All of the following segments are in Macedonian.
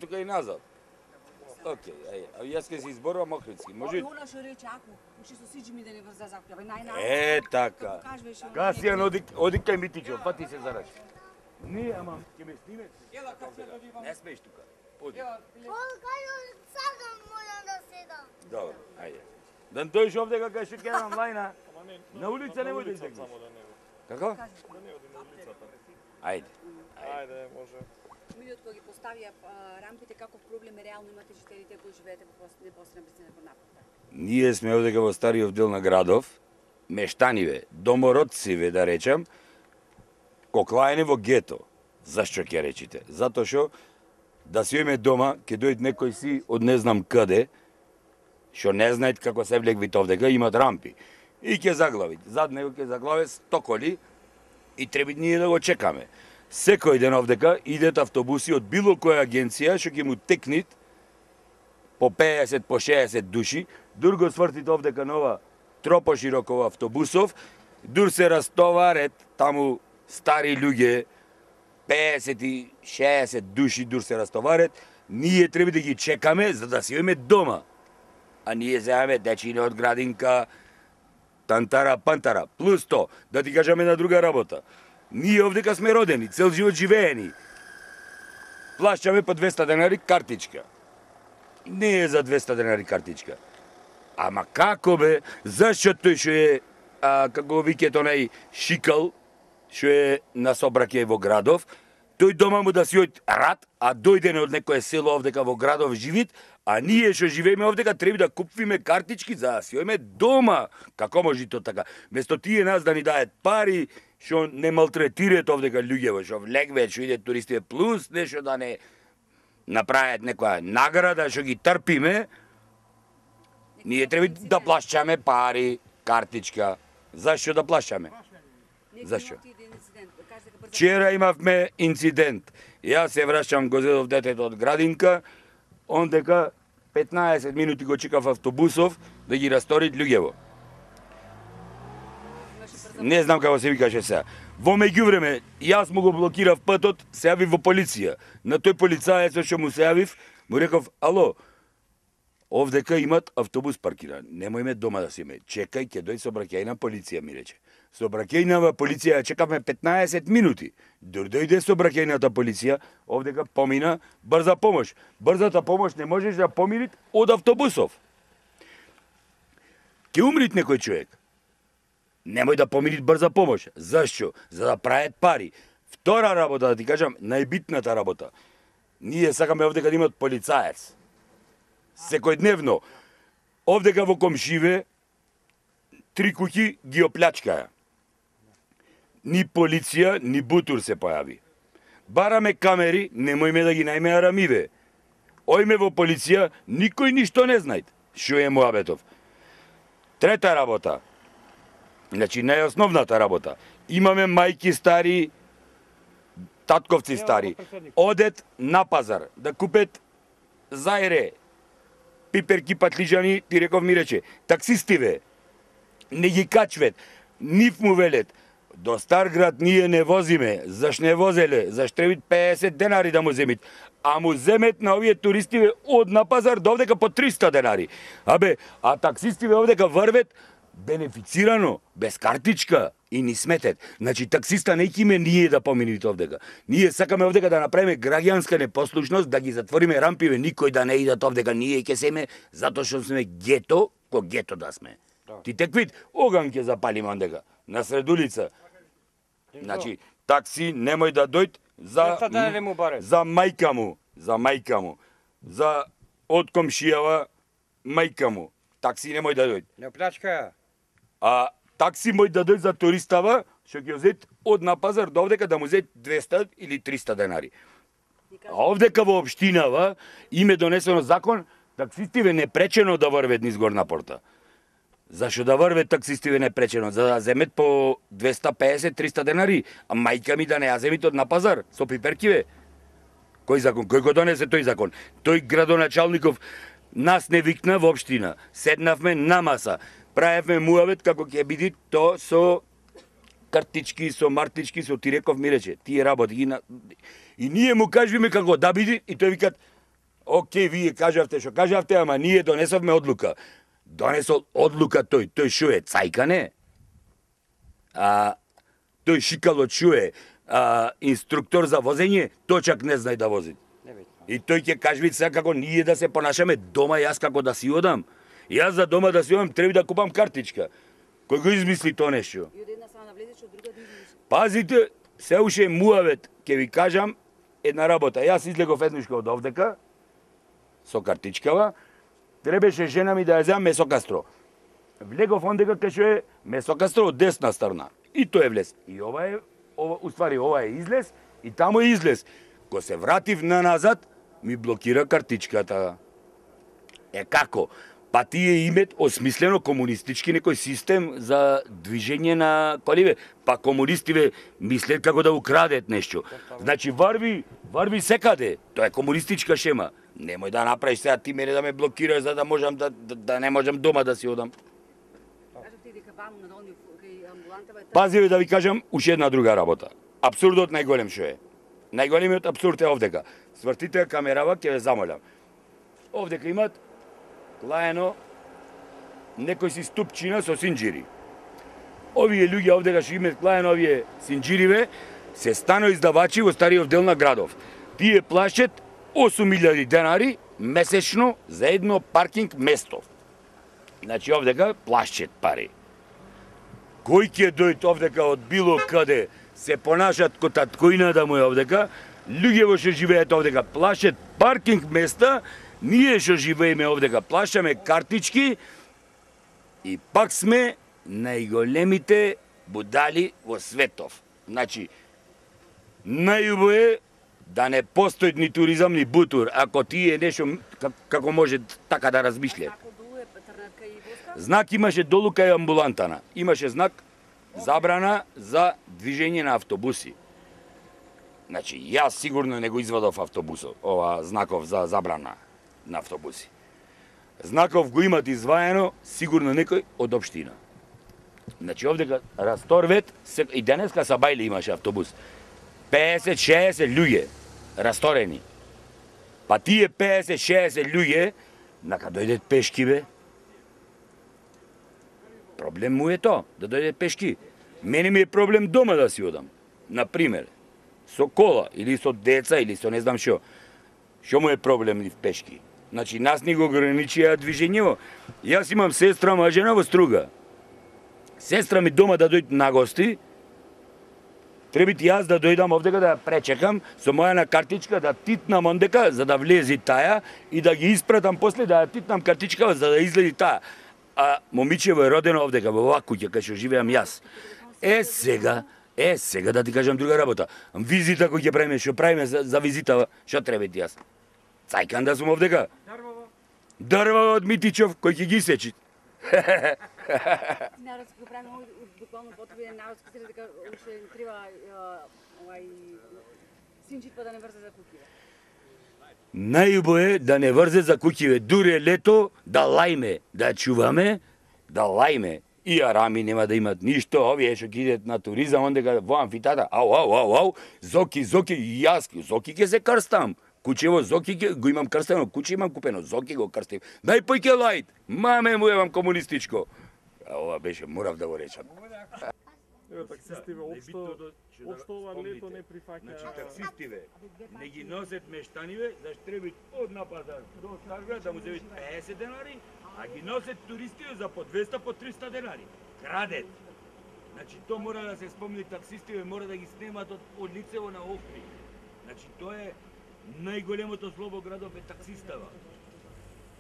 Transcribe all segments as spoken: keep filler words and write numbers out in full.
тука и назад. Океј, ај, а јас ке се изборувам Охридски. Може? Она што рече ако уште со сиџи ми да не врза закупјава најна. Е, така. Касијан оди оди кај Митичо, па ти се зараш. Не, ама ќе ме снимеш. Ела Касијан одивам. Не смееш тука. Оди. Ол кај сакам можам да седам. Добро, ајде. Да дојдеш овде кај што ќе онлајна. На улица немој да излегнеш. Како? Да не оди на улицата. Ајде. Ајде, може. Милиот кога ги поставија рампите, каков проблем реално имате жителите кои живеете во непосредна близина кон напорта? Ние сме овдека во стариот дел на градов, мештаниве, домородциве да речам, коклаене во гето. Зашто ќе речите? Затоа што да си име дома, ќе дојде некој си од не знам каде, што не знаат како се влегвите овдека, имат рампи. И ќе заглавит. Зад него ќе заглаве стоколи и треба ние да го чекаме. Секој ден овдека идет автобуси од било која агенција што ќе му текнит по пеесет, по шеесет души, дур го свртите овдека нова тропо широкова автобусов, дур се растоварет таму стари луѓе, пеесет и шеесет души дур се растоварет, ние треба да ги чекаме за да си име дома. А ние земаме дечине од градинка, тантара, пантара, плюс то, да ти кажаме на друга работа. Ние овдека сме родени, цел живот живеени. Плащаме по двеста денари картичка. Не е за двеста денари картичка. Ама како бе, зашто тој што е, а, како викет онај шикал, што е на собраке во градов, тој дома му да си од рад, а дојде од некое село овдека во градов живит, а ние што живееме овдека треба да купиме картички за да си ојме дома. Како може то така? Место тие нас да ни даат пари, што не малтретираат овдека луѓево, што влегве, што идет туристите плюс, нешто да не направат некоја награда, што ги трпиме, ние треба да плащаме пари, картичка. Зашто да плащаме? Зашто? Вчера имавме инцидент. Јас се враќам, го зедов детето од градинка, ондека петнаесет минути го чекав автобусов да ги расторит луѓево. Не знам како се викаше сега. Во меѓувреме, јас му го блокирав патот, се јавив во полиција. На тој полицаец што му се јавив, му реков, ало, овдека имат автобус паркиран. Немојме дома да си име. Чекај, ќе дојде сообраќајна полиција, ми рече. Сообраќајна полиција чекавме петнаесет минути. Дор дојде сообраќајната полиција, овдека помина брза помош. Брзата помош не можеш да поминит од автобусов. Ке умрит некој човек. Немој да поминит брза помош. Зашто? За да прават пари. Втора работа, да ти кажам, најбитната работа. Ние сакаме овдека да имат полицаец. Секојдневно. Овдека во комшиве три куќи ги оплячкаја. Ни полиција, ни бутур се појави. Бараме камери, немојме да ги најме арамиве. Ојме во полиција, никој ништо не знајт. Шо е муабетов. Трета работа. Значи, најосновната работа. Имаме мајки стари, татковци стари. Одет на пазар да купет зајре, пиперки, патлижани, ти реков ми рече, таксистиве, не ги качвет, нив му велет, до Старград ние не возиме, заш не возеле, заш требит пеесет денари да му земит, а му земет на овие туристиве од на пазар до овдека по триста денари. Абе, а таксистиве овдека врвет бенефицирано, без картичка и ни сметет. Значи, таксиста не киме ние да помините овдека. Ние сакаме овдека да направиме граѓанска непослушност, да ги затвориме рампиве, никој да не идат овдека, ние ќе семе, затоа што сме гето, ко гето да сме. Да. Ти тек вид, оган ќе запалиме ондека, на сред улица. Значи, такси немој да дојд за, за мајка му, за мајка му, за од комшијава мајка му. Такси немој да дојд. Не плачка. А такси мој да дојд за туристава, што ќе зет од на пазар до овдека да му зет двеста или триста денари. А овдека во општинава име донесено закон, таксистиве не пречено да врвет низ горна порта. Зашо да врвет таксистиве не пречено? За да земет по двеста пеесет до триста денари, а мајка ми да не ја земит од на пазар со пиперкиве. Кој закон? Кој го донесе тој закон? Тој градоначалников нас не викна во општина. Седнавме на маса. Правевме муавет како ќе биде то со картички, со мартички, со ти реков ми рече, тие работи ги на... И ние му кажуваме како да биде и тој викат Океј, вие кажавте што кажавте, ама ние донесовме одлука. Донесол одлука тој, тој шо е, цајка не? А, тој шикало шо е, а, инструктор за возење, тој чак не знае да вози. И тој ќе кажи сега како ние да се понашаме дома, јас како да си одам. Јас за дома да си одам треба да купам картичка. Кој го измисли тоа нешто? И од една страна влезеш, од друга да излезеш. Пазите, се уште муавет, ќе ви кажам една работа. Јас излегов еднушка од овдека, со картичкава, требеше жена ми да ја земам месокастро. Влегов ондека кај што е месокастро од десна страна. И тој е влез. И ова е, ова, уствари, ова е излез, и таму е излез. Ко се вратив на назад, ми блокира картичката. Е како? Па тие имет осмислено комунистички некој систем за движење на коливе. Па комунистиве мислят како да украдет нешто. Значи варви, варви секаде. Тоа е комунистичка шема. Немој да направиш сега ти мене да ме блокираш за да можам да, да, да не можам дома да си одам. Кажавте дека ваму на долни кај амбулантава е Пазиве да ви кажам уште една друга работа. Абсурдот најголем што е. Најголемиот абсурд е овдека. Свртите камерава, ќе ве замолам. Овдека имат лаено некој си ступчина со синџири. Овие луѓе овдека што имат лаено овие синџириве се стано издавачи во стариот дел на градов. Тие плашат осум илјади денари месечно за едно паркинг место. Значи овдека плашат пари. Кој ќе дојде овдека од било каде се понашат ко таткоина да му е овдека, луѓе во што живеат овдека плашат паркинг места, ние што живееме овдека плашаме картички и пак сме најголемите будали во светов. Значи, најубаво е да не постои ни туризам ни бутур, ако тие нешто како може така да размишле. како долу е трнатка и воска. Знак имаше долу кај амбулантана. Имаше знак забрана за движење на автобуси. Значи, јас сигурно не го извадов автобусот, ова знаков за забрана на автобуси. Знаков го имат изваено сигурно некој од општина. Значи, овдека расторвет, и денеска са Бајле имаше автобус. пеесет шеесет луѓе расторени. Па тие пеесет шеесет луѓе, нака дојдет пешки, бе. Проблем му е тоа, да дојде пешки. Мене ми е проблем дома да си одам. Например, со кола, или со деца, или со не знам шо. Шо му е проблем ни в пешки? Значи, нас ни го ограничија движењево. Јас имам сестра мажена во Струга. Сестра ми дома да дојде на гости, требит јас да дојдам овдека да ја пречекам со моја картичка да титнам ондека за да влези таја и да ги испратам после да ја титнам картичка за да излези таа. А момичево е родено овдека во оваа куќа кај што живеам јас. Е сега, е сега да ти кажам друга работа. Визита кој ќе правиме, што правиме за, за визита, што треба ти јас? Цајкан да сум овдека. Дрвава. Дрвава од Митичов кој ќе ги сечи. Народски го правиме буквално потреби народски се дека уште треба овај синџитва да не врзе за куќиве. Најубаво е да не врзе за куќиве, дури лето да лајме, да чуваме, да лајме. И арами нема да имат ништо, овие што ќе идат на туризам, ондека во амфитеатар, ау, ау, ау, ау, зоки, зоки, и јас, зоки ќе се крстам. Кучево зоки ќе го имам крстено, куче имам купено, зоки го крстив. Дај појке лајт, маме му евам комунистичко. А ова беше, морав да го речам. Еве таксистиве општо општо ова лето не прифаќа. Значи таксистиве не ги носат мештаниве, зашто треба од на пазар до Старград да му земат пеесет денари, а ги носат туристиве за по двеста, по триста денари. Крадет. Значи тоа мора да се спомни, таксистиве мора да ги снемат од, од лицево на Охрид. Значи тоа е најголемото зло во градов е таксистава.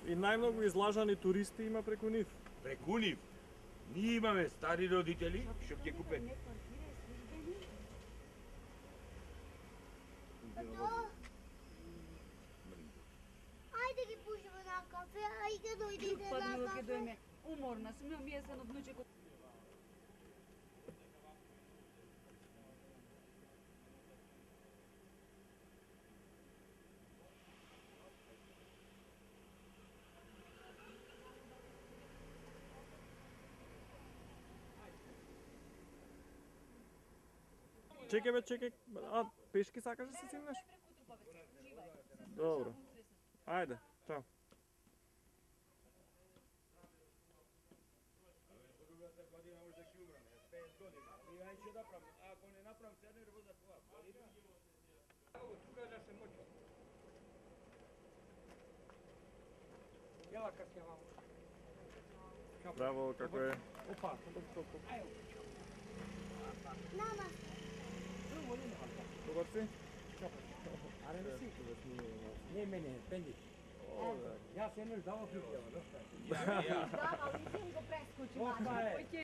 И најмногу излажани туристи има преку нив. Преку нив. Ние имаме стари родители што ќе купат. Ајде ги пушиме на кафе, а и ќе дојдете Па на друго ќе кафе. дојме. Уморна сум, имам јесен од внучекот. Чекај бе, чекај. А, пешки сакаш да се симнеш? Добро. Ајде. Ајде, чао. Другата година може да ќе умрам, пет години. И ај ќе направам, ако не направам сега не работа тоа. Тука да се моќи. Јала как ја мамо. Браво, како е? Опа, Nama. Добар си? аре не си. Не мене, пенди. Јас еднаш давав луѓе. Ја, ја. Да, ali nisam ga preskočila. Опа е.